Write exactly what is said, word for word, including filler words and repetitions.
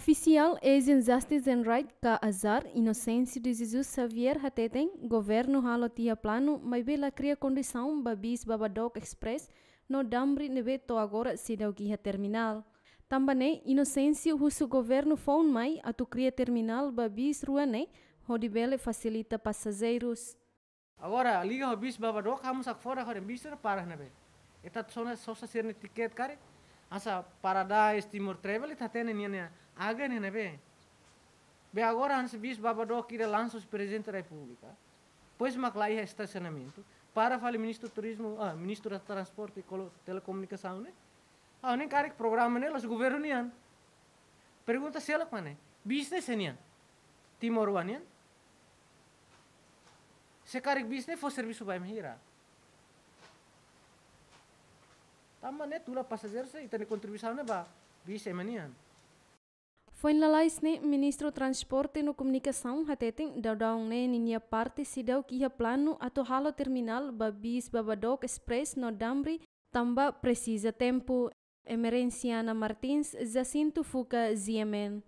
Ofisiál Asian Justice and Right ka AJAR, Inocêncio de Jesus Xavier hateten, governu halo tiha planu maibé la kria kondisaun ba bis Babadook Express no Damri ne'ebé to'o agora seidauk iha terminál. Tanba ne'e, Inocêncio husu governu foun mai atu kria terminál ba bis rua ne'e hodi bele fasilita pasajeirus. Agora, liga ho bis Babadook, ha'u mós hakfodak ho dehan bis ne'e para iha ne'ebé. Ita sona sosa sira-nia tiket karik, hanesan Paradise, Timor Travel, ita hatene nian, nian agen iha ne'ebé. Be agora hanesan bis Babadook ida lansa husi Prezidente Repúblika. Depois mak la iha estasionamentu. Para fali Ministru Turizmu, ah, Ministru Transporte e Kolo-, Telekomunikasaun ne'e. Ah, ne'e karik programa ne'e la'ós governu nian. Pergunta seluk mak ne'e. Bis ne'e sé nian? Timoroan nian? Se karik bis ne'e fó servisu ba ema hira? Tanba ne'e tula pasajeiru sira, ita-nia kontribuisaun ne'e ba bis ema nian. Foin lalais ne'e, Ministru Transporte no Komunikasaun hateten daudaun ne'e ninia parte seidauk iha planu atu halo terminál ba bis Babadook Express no Damri tanba presiza tempu. Emerenciana Martins, Jacinto Fuca, G M N.